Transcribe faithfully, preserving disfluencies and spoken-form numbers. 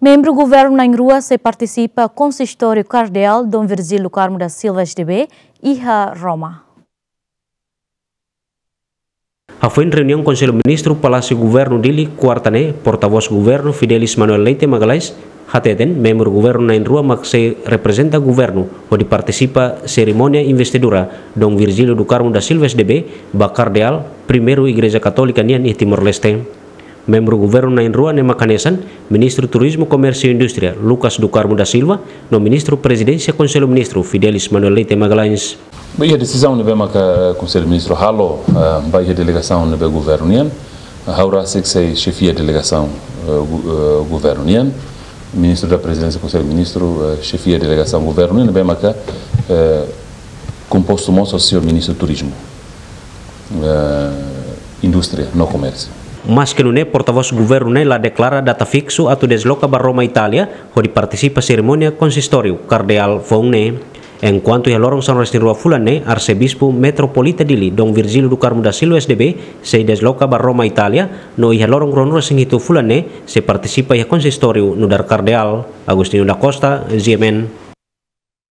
Membru governu na'in-rua sei partisipa konsistóriu Kardeál Dom Virgílio do Carmo da Silva S D B iha Roma. Hafoin reuniaun Konsellu Ministru Palásiu Governu Dili, kuarta ne'e, portavós governu Fidelis Manuel Leite Magalhães hateten, membru governu na'in-rua mak sei reprezenta governu hodi partisipa serimónia investidura Dom Virgílio do Carmo da Silva S D B ba Kardeál, primeiru Igreja Katólika nian iha Timor-Leste. Membru governu na'in-rua ne'e mak hanesan Ministru Turizmu, Komérsiu no Indústria, Lucas do Carmo da Silva, no Ministru Prezidénsia Konsellu Ministru, Fidelis Manuel Leite Magalhães. Ba iha desizaun ne'ebé maka, eh, Konsellu Ministru halo, eh, ba iha delegasaun ne'ebé governu nian, eh, ha'u rasik sei xefia delegasaun, eh, gu-, eh, governu nian, Ministru da Prezidénsia Konsellu Ministru, eh, xefia delegasaun governu nian, ne'ebé maka, eh, kompostu mós ho señór Ministru Turizmu, eh, Indústria no Komérsiu. Maske nune'e, portavós governu ne'e la deklara data fiksu atu desloka ba Roma, Itália, hodi partisipa serimónia konsistóriu Kardeál foun ne'e. Enkuantu iha loron sanulu-resin-rua fulan ne'e, Arsebispu Metropolita Dili, Dom Virgílio do Carmo da Silva S D B, sei desloka ba Roma, Itália, no iha loron ruanulu-resin-hitu fulan ne'e, sei partisipa iha konsistóriu nu'udar Kardeál. Agostinho da Costa, G M N.